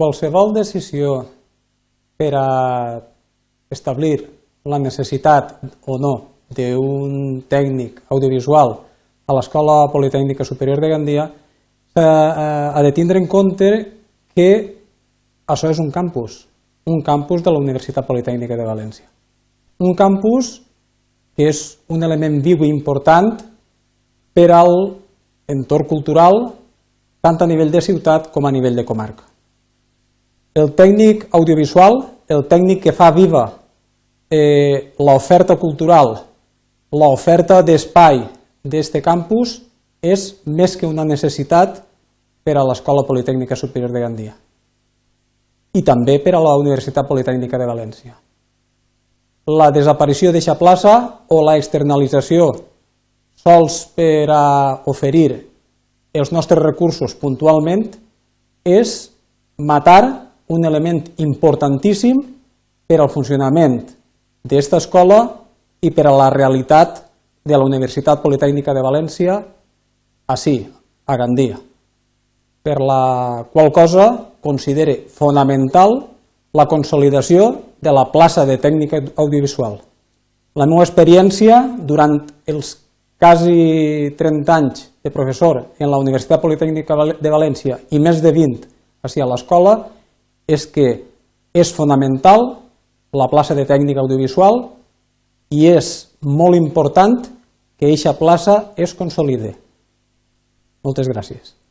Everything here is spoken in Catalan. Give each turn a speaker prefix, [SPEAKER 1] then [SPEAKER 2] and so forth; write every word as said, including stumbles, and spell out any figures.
[SPEAKER 1] qualsevol decisió per a establir la necessitat o no d'un tècnic audiovisual a l'Escola Politècnica Superior de Gandia ha de tindre en compte que això és un campus, un campus de la Universitat Politècnica de València. Un campus que és un element viu i important per a l'entorn cultural, tant a nivell de ciutat com a nivell de comarca. El tècnic audiovisual, el tècnic que fa viva eh, l'oferta cultural, l'oferta d'espai d'aquest campus, és més que una necessitat per a l'Escola Politècnica Superior de Gandia i també per a la Universitat Politècnica de València. La desaparició d'aquesta plaça o la externalització sols per a oferir els nostres recursos puntualment és matar un element importantíssim per al funcionament d'aquesta escola i per a la realitat de la Universitat Politècnica de València ací, a Gandia. Per la qual cosa considere fonamental la consolidació de la plaça de tècnic audiovisual. La meva experiència durant els quasi trenta anys de professor en la Universitat Politècnica de València i més de vint ací a l'escola és que és fonamental la plaça de tècnic audiovisual i és molt important que aquesta plaça es consolide. Moltes gràcies.